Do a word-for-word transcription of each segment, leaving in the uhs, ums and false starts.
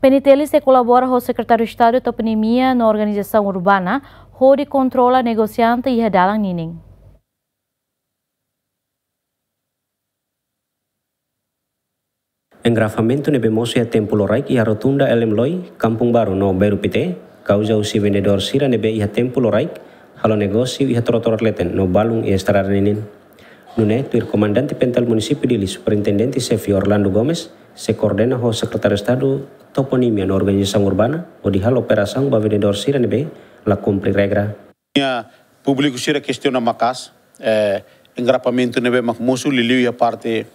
PNTL sei kolabora ho Sekretáriu Estadu Toponimia no Organizasaun Urbana hodi kontrola negosiante iha dalan ninin. Engarrafamentu ne'ebé mosu iha tempu loraik iha rotunda L M Loi, Kampung Baru no Bairru Pité, kauza husi vendedór sira ne'ebé iha tempu loraik halo negósiu iha trotoar leten no balun iha estrada ninin. Nune'e, tuir Komandante PNTL Munisípiu Dili, Superintendente Xefe Orlando Gomes, sei koordena ho Sekretáriu Estadu Toponimia no Organizasaun Urbana, hodi halo operasaun ba vendedór sira ne'ebé la kumpre regra. Nia públiku sira kestiona maka'as, eh, engarrafamentu ne'ebé mak mosu liuliu iha parte,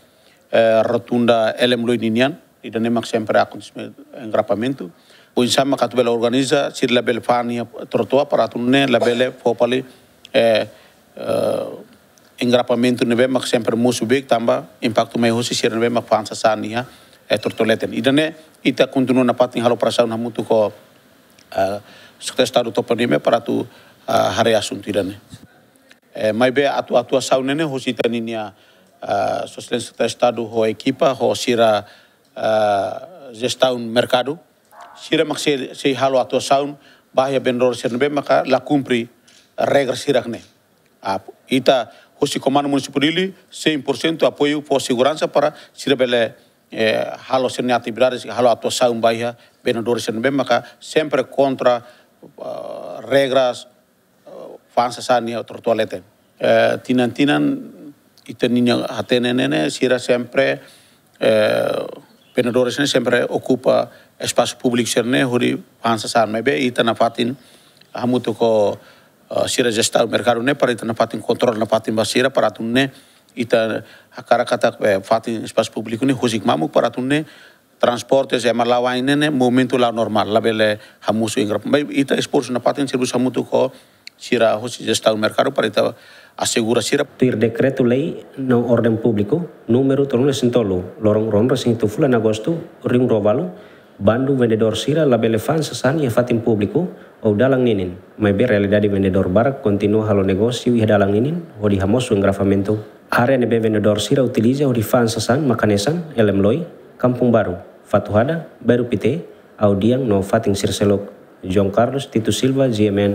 eh, rotunda L M Loi ninian, ida-ne'e mak sempre akontese engarrafamentu. Oinsá mak atu bele organiza, sira labele fa'an iha trotoar para atu nune'e labele fó fali, eh, eh, engarrafamentu ne'ebé mak sempre mosu beik tanba impaktu mai hosi sira ne'ebé mak fa'an sasán iha, eh, trotoar leten. Ida-ne'e ita kontinua nafatin halo operasaun hamutuk ho, eh, Sekretáriu Estadu Toponimia para atu, eh, haree asuntu ida-ne'e. Eh, maibé atu atuasaun ne'e ne'e hosi ita-nia, eh, Sua Exelénsia Sekretáriu Estadu ho ekipa, ho sira, eh, jestaun merkadu. Sira mak sei, sei halo atuasaun ba iha vendedór sira ne'ebé maka la kumpre regra sira-ne'e. Ah, ita hosi Komandu Munisípiu Dili, cem por cento apoiu fó seguransa para sira bele, eh, halo sira-nia atividade, halo atuasaun ba iha vendedór sira ne'ebé maka sempre kontra, ah, regras, eh, fa'an sasán iha trotoar leten. Eh, tinan-tinan ita-nia hatene ne'e ne'e sira sempre, eh, vendedores ne'e sempre okupa espasu públiku sira-ne'e hodi fa'an sasán, maibé ita nafatin hamutuk ho, eh, sira jestaun merkadu ne'e para ita nafatin kontrola nafatin ba sira para atu nune'e ita hakarak katak, eh, fatin espasu públiku ne'e husik mamuk para atu nune'e transportes ema la'o-ain ne'e ne'e movimentu la'o normál, labele hamosu engarrafamentu. Maibé ita esforsu nafatin servisu hamutuk ho sira hosi jestaun merkadu para ita asegura sira. Tuir Dekretu-Lei no Orden Públiku númeru tolunulu-resin-tolu, loron ruanulu-resin-hitu fulan Agostu, rihun rua ualu, bandu vendedór sira labele fa'an sasán iha fatin públiku ou dalan ninin, maibé realidade vendedór barak kontinua halo negósiu iha dalan ninin hodi hamosu engarrafamentu. Área ne'ebé vendedór sira utiliza hodi fa'an sasán mak hanesan L M Loi, Kampung Baru, Fatuhada, Bairru Pité, Audian no fatin sira seluk. João Carlos Tito Silva, G M N.